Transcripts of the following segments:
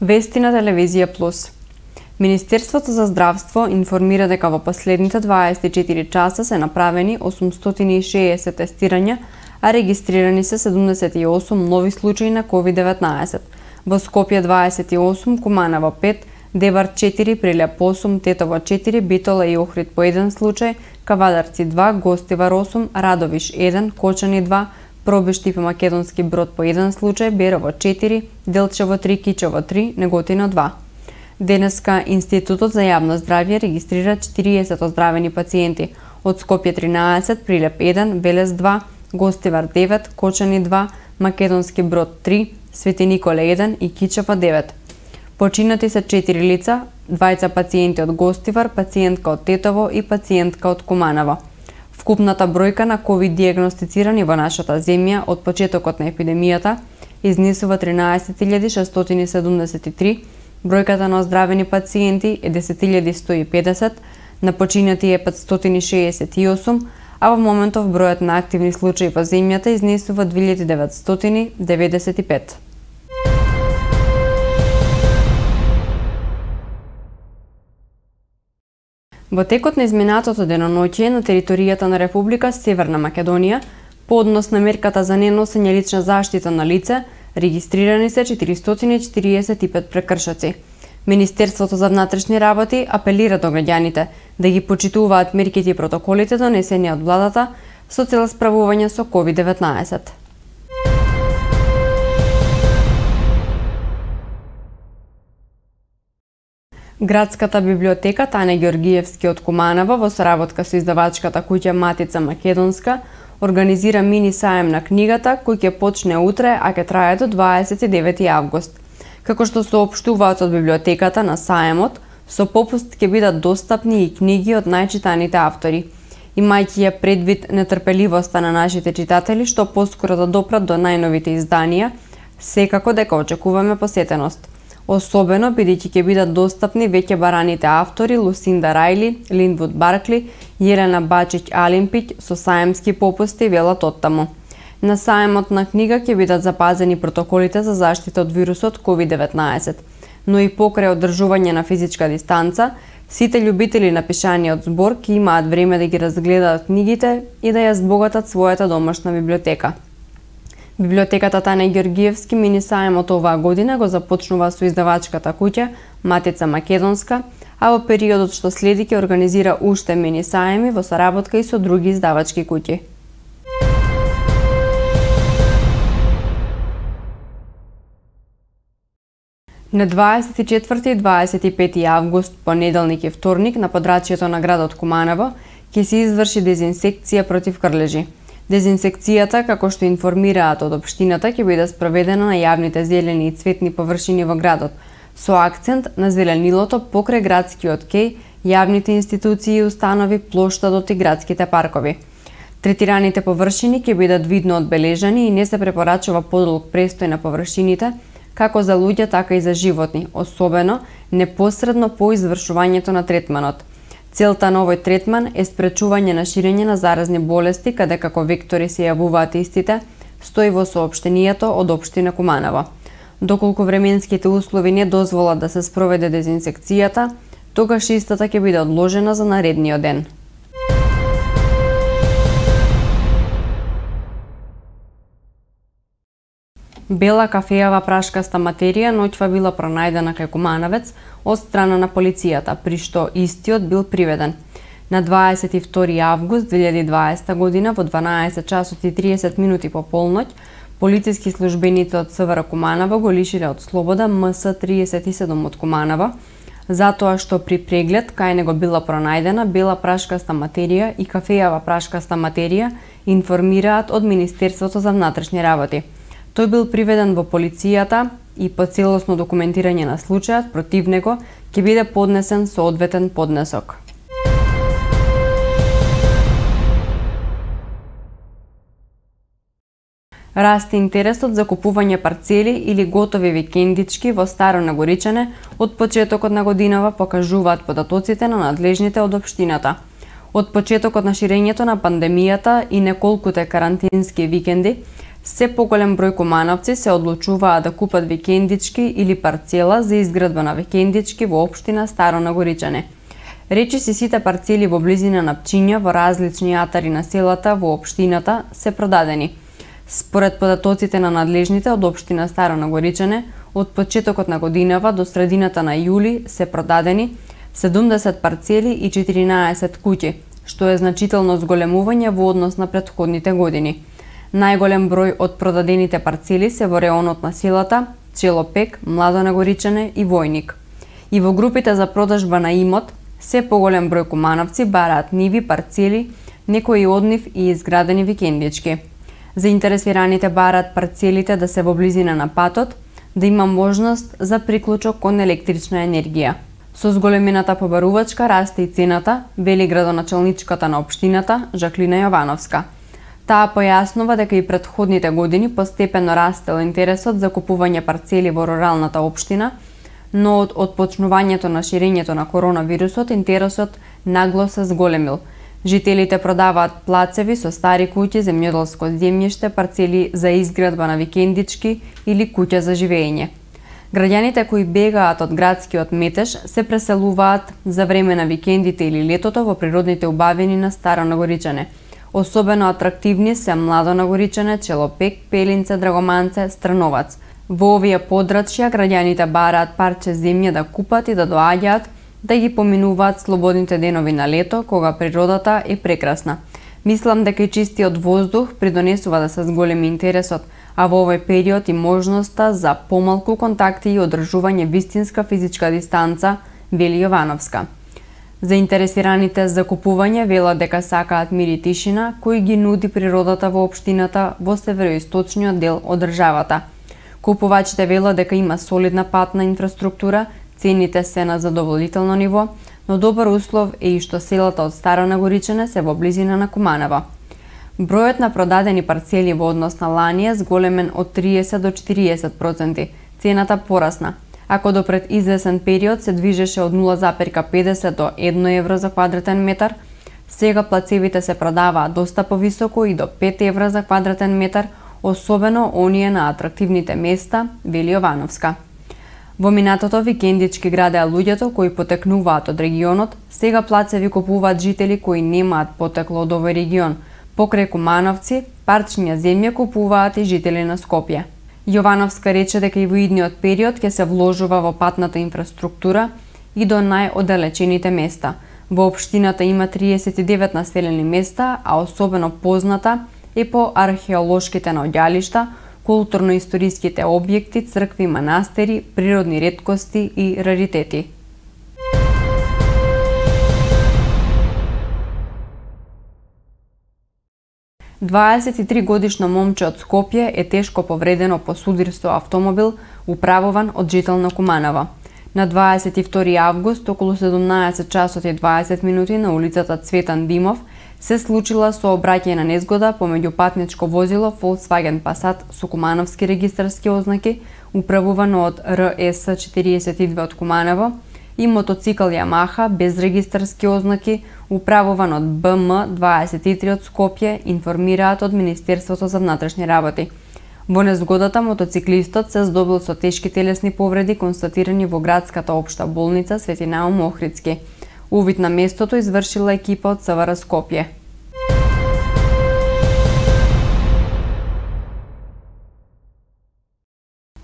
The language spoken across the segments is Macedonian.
Вести на телевизија Плюс. Министерството за здравство информира дека во последните 24 часа се направени 860 тестирања, а регистрирани се 78 нови случаи на COVID-19. Во Скопје 28, Куманово 5, Дебар 4, Прилеп 8, Тетово 4, Битола и Охрид по 1 случај, Кавадарци 2, Гостивар 8, Радовиш 1, Кочани 2, Пробишти по Македонски Брод по 1 случај, Берово 4, Делчево 3, Кичево 3, Неготино 2. Денеска Институтот за јавно здравје регистрира 40 оздравени пациенти, од Скопје 13, Прилеп 1, Велес 2, Гостивар 9, Кочани 2, Македонски Брод 3, Свети Николе 1 и Кичево 9. Починати се 4 лица, 2 пациенти од Гостивар, пациентка од Тетово и пациентка од Куманово. Вкупната бројка на ковид диагностицирани во нашата земја од почетокот на епидемијата изнесува 13.673, бројката на оздравени пациенти е 10.150, на починати е 568, а во моментов бројот на активни случаи во земјата изнесува 2995. Во текот на изминатото деноноќие на територијата на Република Северна Македонија, по однос на мерката за неносење лична заштита на лице, регистрирани се 445 прекршоци. Министерството за внатрешни работи апелира до граѓаните да ги почитуваат мерките и протоколите донесени од владата со цел справување со COVID-19. Градската библиотека Тане Ѓоргиевски од Куманово во соработка со издавачката куќа Матица Македонска организира мини саем на книгата кој ќе почне утре, а ќе трае до 29 август. Како што соопштуваат од библиотеката на саемот, со попуст ќе бидат достапни и книги од најчитаните автори. Имајќи ја предвид нетрпеливоста на нашите читатели што поскоро да допрат до најновите изданија, секако дека очекуваме посетеност. Особено бидејќи ќе бидат достапни веќе бараните автори Лусинда Рајли, Линдвуд Баркли, Јелена Бачиќ Алимпиќ со саемски попусти велат оттаму. На саемот на книга ќе бидат запазени протоколите за заштита од вирусот COVID-19, но и покрај одржување на физичка дистанца, сите љубители на пишаниот збор ќе имаат време да ги разгледаат книгите и да ја збогатат својата домашна библиотека. Библиотеката Тане Ѓоргиевски мини саемот оваа година го започнува со издавачката куќа Матица Македонска, а во периодот што следи ќе организира уште мини саеми во соработка и со други издавачки куќи. На 24 и 25 август, понеделник и вторник, на подрачјето на градот Куманово ќе се изврши дезинсекција против крлежи. Дезинсекцијата, како што информираат од општината, ќе биде спроведена на јавните зелени и цветни површини во градот, со акцент на зеленилото покрај градскиот кеј, јавните институции и установи, плоштадот и градските паркови. Третираните површини ќе бидат видно одбележани и не се препорачува подолг престој на површините, како за луѓе, така и за животни, особено непосредно по извршувањето на третманот. Целта на овој третман е спречување на ширење на заразни болести, каде како вектори се јавуваат истите, стои во соопштението од општина Куманово. Доколку временските услови не дозволат да се спроведе дезинсекцијата, тогаш истата ќе биде одложена за наредниот ден. Бела кафејава прашкаста материја ноќва била пронајдена кај Кумановец од страна на полицијата, при што истиот бил приведен. На 22 август 2020 година во 12 часот и 30 минути по полноќ, полициски службеници од СВР Куманово го лишиле од слобода МС-37 од Куманово, затоа што при преглед кај него била пронајдена бела прашкаста материја и кафејава прашкаста материја, информираат од Министерството за внатрешни работи. Тој бил приведен во полицијата и по целосно документирање на случајот против него ќе биде поднесен соодветен поднесок. Расте интересот за купување парцели или готови викендички во Старо Нагоричане од почетокот на годинава, покажуваат податоците на надлежните од општината. Од почетокот на ширењето на пандемијата и неколкуте карантински викенди, Се поголем број кумановци се одлучуваат да купат викендички или парцела за изградба на викендички во општина Старо Нагоричане. Речиси сите парцели во близина на Пчиња во различни атари на селата во општината се продадени. Според податоците на надлежните од општина Старо Нагоричане, од почетокот на годинава до средината на јули се продадени 70 парцели и 14 куќи, што е значително зголемување во однос на претходните години. Најголем број од продадените парцели се во реонот на селата Челопек, Младо Нагоричане и Војник. И во групите за продажба на имот, се поголем број кумановци бараат ниви, парцели, некои од нив и изградени викендички. Заинтересираните бараат парцелите да се во близина на патот, да има можност за приклучок кон електрична енергија. Со зголемената побарувачка расте и цената, вели градоначалничката на општината Жаклина Јовановска. Таа појаснува дека и претходните години постепено растел интересот за купување парцели во руралната општина, но од отпочнувањето на ширењето на коронавирусот интересот нагло се зголемил. Жителите продаваат плацеви со стари куќи, земјоделско земјиште, парцели за изградба на викендички или куќа за живење. Граѓаните кои бегаат од градскиот метеж се преселуваат за време на викендите или летото во природните убавини на Старо Нагоричане. Особено атрактивни се Младо Нагоричане, Челопек, Пелинце, Драгоманце, Страновац. Во овие подрачја граѓаните бараат парче земја да купат и да доаѓаат, да ги поминуваат слободните денови на лето, кога природата е прекрасна. Мислам дека и чистиот воздух придонесува да се зголеми интересот, а во овој период и можноста за помалку контакти и одржување вистинска физичка дистанца, вели Јовановска. Заинтересираните за купување велат дека сакаат мир и тишина, кои ги нуди природата во општината во североисточниот дел од државата. Купувачите велат дека има солидна патна инфраструктура, цените се на задоволително ниво, но добар услов е и што селата од Старо Нагоричане се во близина на Куманова. Бројот на продадени парцели во однос на лани е зголемен од 30 до 40%. Цената порасна. Ако до пред извесен период се движеше од 0,50 до 1 евро за квадратен метар, сега плацевите се продаваат доста повисоко и до 5 евра за квадратен метар, особено оние на атрактивните места, вели Јовановска. Во минатото викендички градеа луѓето кои потекнуваат од регионот, сега плацеви купуваат жители кои немаат потекло од овој регион. Покрај кумановци, парчиња земја купуваат и жители на Скопје. Јовановска рече дека и во идниот период ќе се вложува во патната инфраструктура и до најоддалечените места. Во општината има 39 населени места, а особено позната е по археолошките наоѓалишта, културно-историските објекти, цркви, манастери, природни реткости и раритети. Годишно момче од Скопје е тешко повредено по судир со автомобил управуван од жител на Куманова. На 22 август, околу 17 часот и 20 минути на улицата Цветан Димов, се случила сообраќајна незгода помеѓу патничко возило Volkswagen Passat со кумановски регистарски ознаки, управувано од РС 42 од Куманово, и мотоцикл Yamaha без регистарски ознаки, управуван од БМ 23 од Скопје, информираат од Министерството за внатрешни работи. Во незгодата мотоциклистот се здобил со тешки телесни повреди констатирани во градската општа болница Свети Наум Охридски. Увид на местото извршила екипа од СВР Скопје.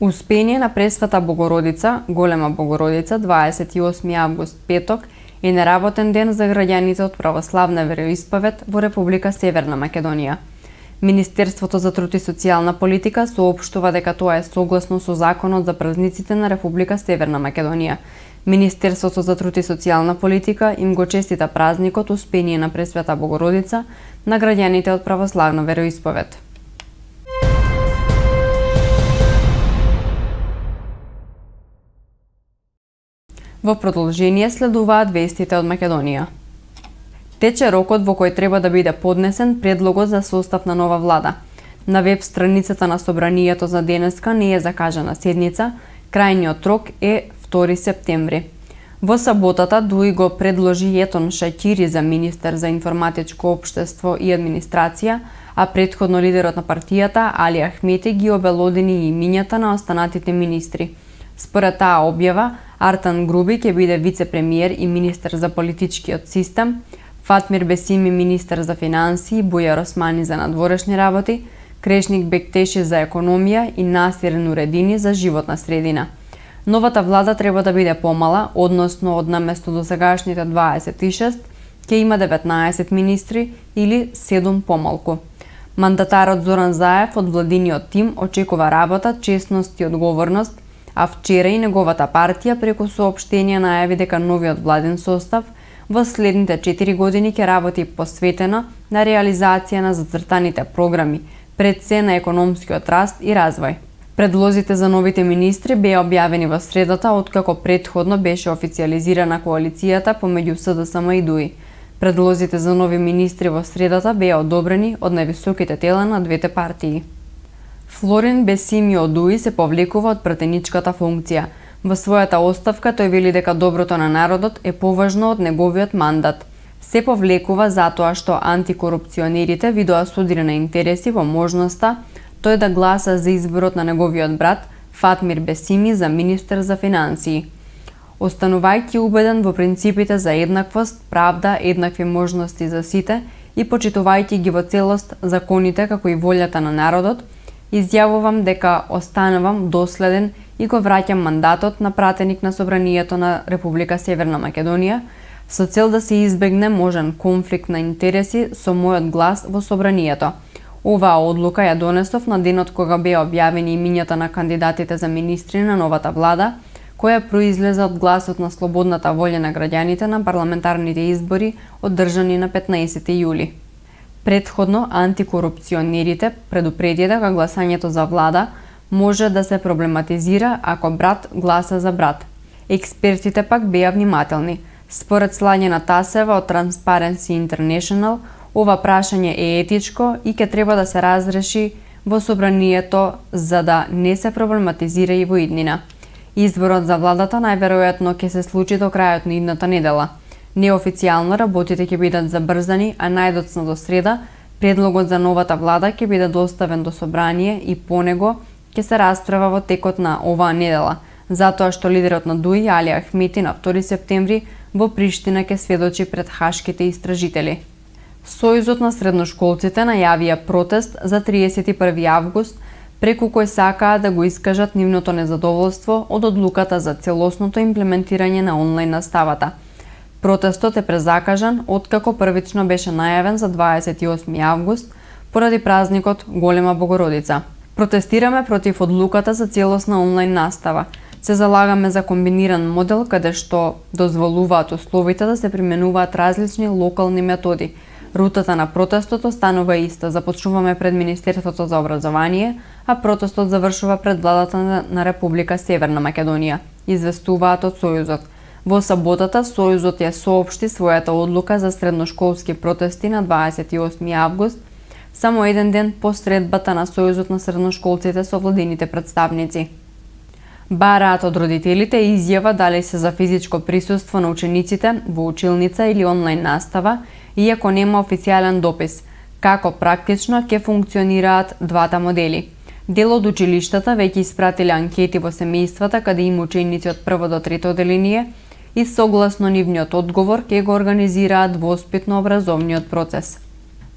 Успение на Пресвета Богородица, Голема Богородица, 28 август, петок, е неработен ден за граѓаните од православна вероисповед во Република Северна Македонија. Министерството за труд и социјална политика соопштува дека тоа е согласно со Законот за празниците на Република Северна Македонија. Министерството за труд и социјална политика им го честита празникот Успение на Пресвета Богородица на граѓаните од православна вероисповед. Во продолжение следуваат вестите од Македонија. Тече рокот во кој треба да биде поднесен предлогот за состав на нова влада. На веб страницата на Собранието за денеска не е закажана седница, крајниот рок е 2 септември. Во саботата Дуи го предложи Етон Шаќири за министер за информатичко општество и администрација, а претходно лидерот на партијата Али Ахмети ги обелодени и имињата на останатите министри. Според таа објава, Артан Груби ќе биде вице-премиер и министер за политичкиот систем, Фатмир Бесими министер за финансии, Бујар Османи за надворешни работи, Крешник Бектеши за економија и Насир Нуредини за животна средина. Новата влада треба да биде помала, односно од наместо досегашните 26, ќе има 19 министри или 7 помалку. Мандатарот Зоран Заев од владиниот тим очекува работа, честност и одговорност, а вчера и неговата партија преку соопштенија најави дека новиот владен состав во следните 4 години ќе работи посветено на реализација на зацртаните програми, пред се на економскиот раст и развој. Предлозите за новите министри беа објавени во средата, откако претходно беше официјализирана коалицијата помеѓу СДСМ и ДУИ. Предлозите за нови министри во средата беа одобрени од највисоките тела на двете партии. Флорин Бесими од ДУИ се повлекува од пратеничката функција. Во својата оставка тој вели дека доброто на народот е поважно од неговиот мандат. Се повлекува затоа што антикорупционерите видоа судирани интереси во можноста тој да гласа за изборот на неговиот брат Фатмир Бесими за министер за финансии. Останувајќи убеден во принципите за еднаквост, правда, еднакви можности за сите и почитувајќи ги во целост законите како и волјата на народот, изјавувам дека останувам доследен и го враќам мандатот на пратеник на Собранието на Република Северна Македонија со цел да се избегне можен конфликт на интереси со мојот глас во Собранието. Оваа одлука ја донесов на денот кога беа објавени имињата на кандидатите за министри на новата влада, која произлеза од гласот на слободната волја на граѓаните на парламентарните избори одржани на 15 јули. Претходно, антикорупционерите предупредија дека гласањето за влада може да се проблематизира ако брат гласа за брат. Експертите пак беа внимателни. Според Слањена Тасева од Transparency International, ова прашање е етичко и ќе треба да се разреши во Собранието за да не се проблематизира и во иднина. Изборот за владата најверојатно ќе се случи до крајот на идната недела. Неофицијално работите ќе бидат забрзани, а најдоцна до среда предлогот за новата влада ќе биде доставен до собрание и по него ќе се расправа во текот на оваа недела, затоа што лидерот на ДУИ Али Ахмети на 2 септември во Приштина ќе сведочи пред хашките истражители. Сојузот на средношколците најавија протест за 31 август, преку кој сакаат да го искажат нивното незадоволство од одлуката за целосното имплементирање на онлайн наставата. Протестот е презакажан откако првично беше најавен за 28 август поради празникот Голема Богородица. Протестираме против одлуката за целосна онлайн настава. Се залагаме за комбиниран модел каде што дозволуваат условите да се применуваат различни локални методи. Рутата на протестот останува иста. Започнуваме пред Министерството за образование, а протестот завршува пред владата на Република Северна Македонија, известуваат од Сојузот. Во саботата Сојузот ја соопшти својата одлука за средношколски протести на 28 август, само еден ден по средбата на Сојузот на средношколците со владините представници. Бараат од родителите изјава дали се за физичко присуство на учениците во училница или онлайн настава, иако нема официјален допис, како практично ќе функционираат двата модели. Дел од училиштата веќе испратиле анкети во семејствата каде има ученици од прво до трето одделение и согласно нивниот одговор ќе го организираат воспитно-образовниот процес.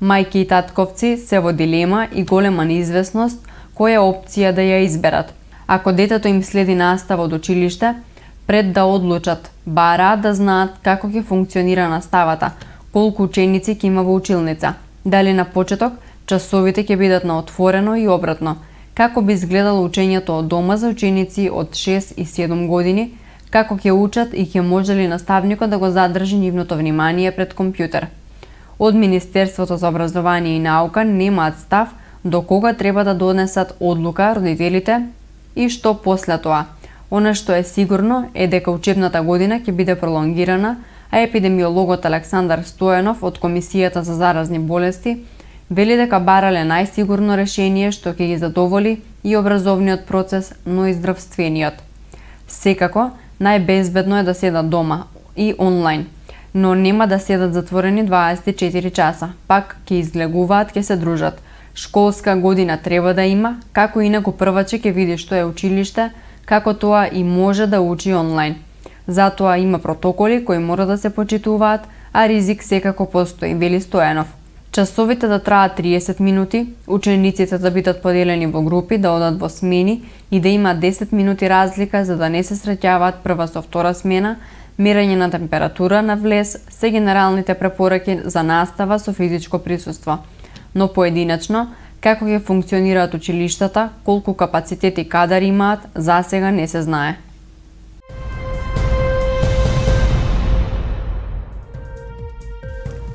Мајки и татковци се во дилема и голема неизвестност која опција да ја изберат. Ако детето им следи настава од училиште, пред да одлучат, бараат да знаат како ќе функционира наставата, колку ученици ќе има во училница, дали на почеток часовите ќе бидат на отворено и обратно, како би изгледало учењето од дома за ученици од 6 и 7 години, како ќе учат и ќе може ли наставникот да го задржи нивното внимание пред компјутер. Од Министерството за образование и наука немаат став до кога треба да донесат одлука родителите и што после тоа. Она што е сигурно е дека учебната година ќе биде пролонгирана, а епидемиологот Александар Стојанов од Комисијата за заразни болести вели дека барале најсигурно решение што ќе ги задоволи и образовниот процес, но и здравствениот. Секако, најбезбедно е да седат дома и онлайн, но нема да седат затворени 24 часа, пак ќе излегуваат, ќе се дружат. Школска година треба да има, како инаку прваче ќе види што е училиште, како тоа и може да учи онлайн. Затоа има протоколи кои мора да се почитуваат, а ризик секако постои, вели Стојанов. Часовите да траат 30 минути, учениците да бидат поделени во групи, да одат во смени и да има 10 минути разлика за да не се среќаваат прва со втора смена, мерење на температура на влез, се генералните препораки за настава со физичко присуство. Но поединачно, како ќе функционираат училиштата, колку капацитет и кадар имаат, засега не се знае.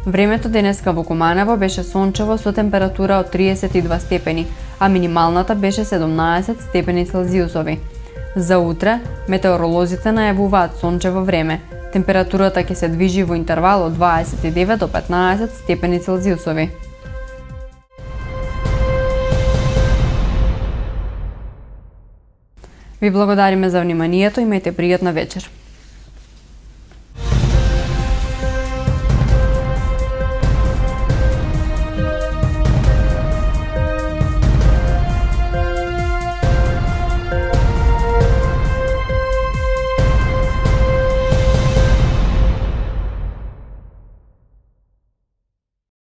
Времето денеска во Куманово беше сончево со температура од 32 степени, а минималната беше 17 степени Целзиусови. За утре, метеоролозите најавуваат сончево време. Температурата ќе се движи во интервал од 29 до 15 степени Целзиусови. Ви благодариме за вниманието, имајте пријатна вечер.